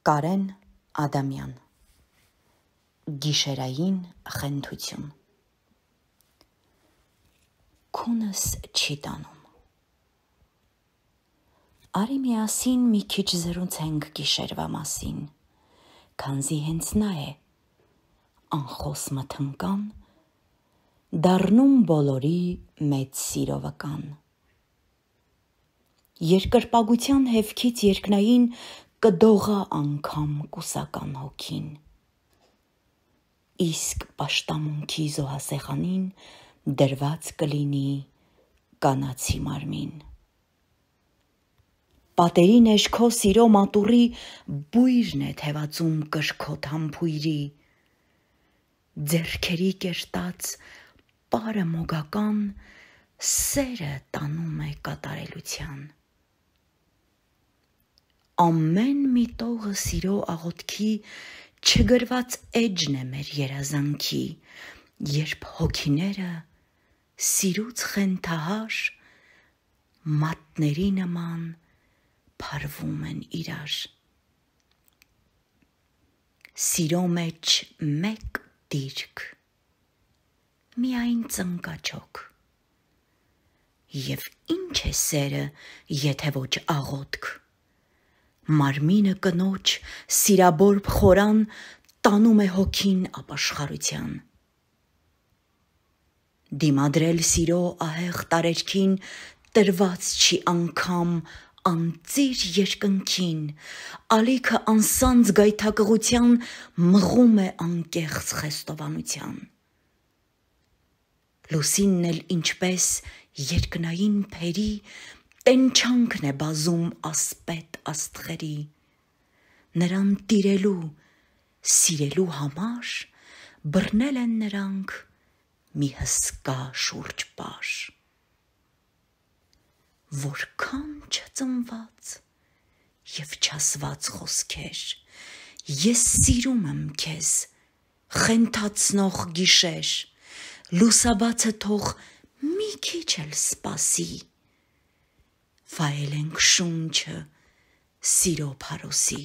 Կարեն Ադամյան Գիշերային խենթություն Քունս չի տանում Արի միասին մի քիչ զրուցենք գիշերվա մասին, քանզի հենց նա է, անխոս մթնկան, դառնում բոլորի մեծ սիրովական։ Երկրպագության հևքից երկնային կդողա անգամ կուսական հոգին, իսկ պաշտամունքի զոհասեղանին դրված կլինի կանացի մարմին։ Պատերի ներքո սիրո մատուռի բույրն է թևածում կրքոտ համբույրի, ձեռքերի կերտած պարը մոգական սերը տանում է կատարելության։ Ամեն մի տողը սիրո աղոթքի չգրված էջն է մեր երազանքի, երբ հոգիները սիրուց խենթահար մատների նման փարվում են իրար։ Սիրո մեջ մեկ դիրք, միայն ծնկաչոք, և ինչ է սերը, եթե ոչ աղոթք, մարմինը կնոջ սիրաբորբ խորան տանում է հոգին ապաշխարության։ Դիմադրել սիրո ահեղ տարերքին տրված չի անգամ անծիր երկնքին, ալիքը անսանձ գայթակղության մղում է անկեղծ խեստովանության։ Լուսինն էլ ինչպես երկնային փերի տենչանքն է բազում ասպետ աստղերի, նրան տիրելու, սիրելու համար բռնել են նրանք մի հսկա շուրջպար։ Որքան չծնված և չասված խոսքեր, ես սիրում եմ քեզ, խենթացնող գիշեր, լուսաբացը թող մի քիչ էլ սպասի, վայելենք շունչը սիրո փարոսի։